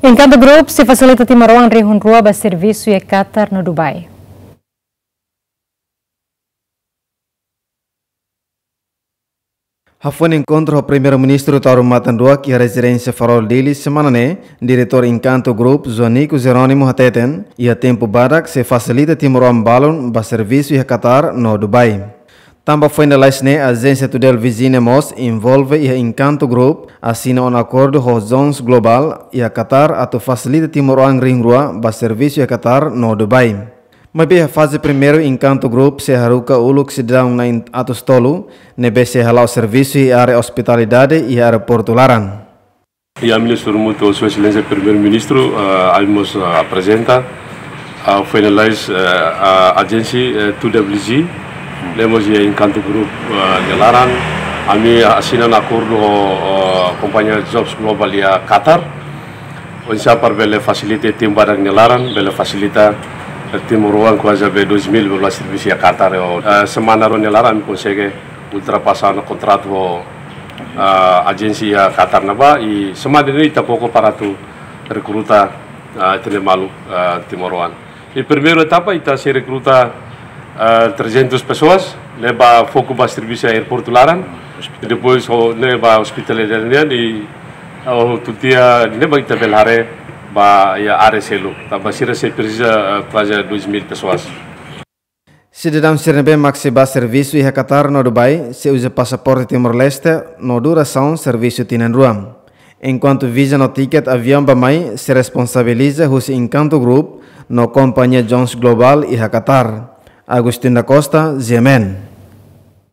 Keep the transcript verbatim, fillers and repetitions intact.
Encanto Group sei fasilita timoroan rihun rua ba servisu iha Qatar no Dubai. Hafoin enkontru ho Primeiru-Ministru Taur Matan Ruak iha rezidénsia Farol, Dili, semana ne'e, Diretór Encanto Group, Joanico Jerónimo, hateten, iha tempu badak sei fasilita timoroan balun ba servisu iha Qatar no Dubai. Tanba foin lalais ne'e, ajénsia Tudel Vizine mós envolve iha Encanto Group, asina ona akordu ho Jones Global iha Qatar atu fasilita timoroan rihun rua ba servisu iha Qatar no Dubai. Maibé iha faze primeiru, Encanto Group sei haruka uluk sidadaun na'in atus tolu, ne'ebé sei hala'o servisu iha área ospitalidade iha aeroportu laran. Iha ami-nia sorumutu Sua Exelénsia Primeiru-Ministru, ah, ami mós, ah, aprezenta, ah, finalize, eh, ah, ajénsia, eh, two W G, ne'e mós iha Encanto Group, ah, nia laran. Ami asina ona akordu ho, ah, kompañia Jobs Global iha Qatar. Oinsá para bele fasilita iha tempu badak nia laran, bele fasilita, eh, timoroan kuaze be dois mil bele servisu iha Qatar. Eh, semana rua nia laran ami konsege ultrapasa ona kontratu ho, ah, ajénsia Qatar ne'ebá, i semana ne'e ita koko para atu rekruta, ah, ita-nia maluk, ah, timoroan. I primeiru etapa ita sei rekruta, ah, trezentas pessoas, ne'ebé foku ba servisu aeroportu laran. Depois ho ne'ebé ospitalidade nian, i, ah, ho tutia ne'ebé ita bele haree ba iha área seluk. Tanba sira sei presiza, ah, kuaze dois mil pessoas. Sidadaun sira ne'ebé mak sei ba servisu iha Qatar no Dubai, sei uza pasaporte Timor-Leste no durasaun servisu tinan rua. Enkuantu viza no tiket aviaun bá-mai sei responsabiliza husi Encanto Group no kompañia Jones Global iha Qatar. Agustin da Costa, G M N.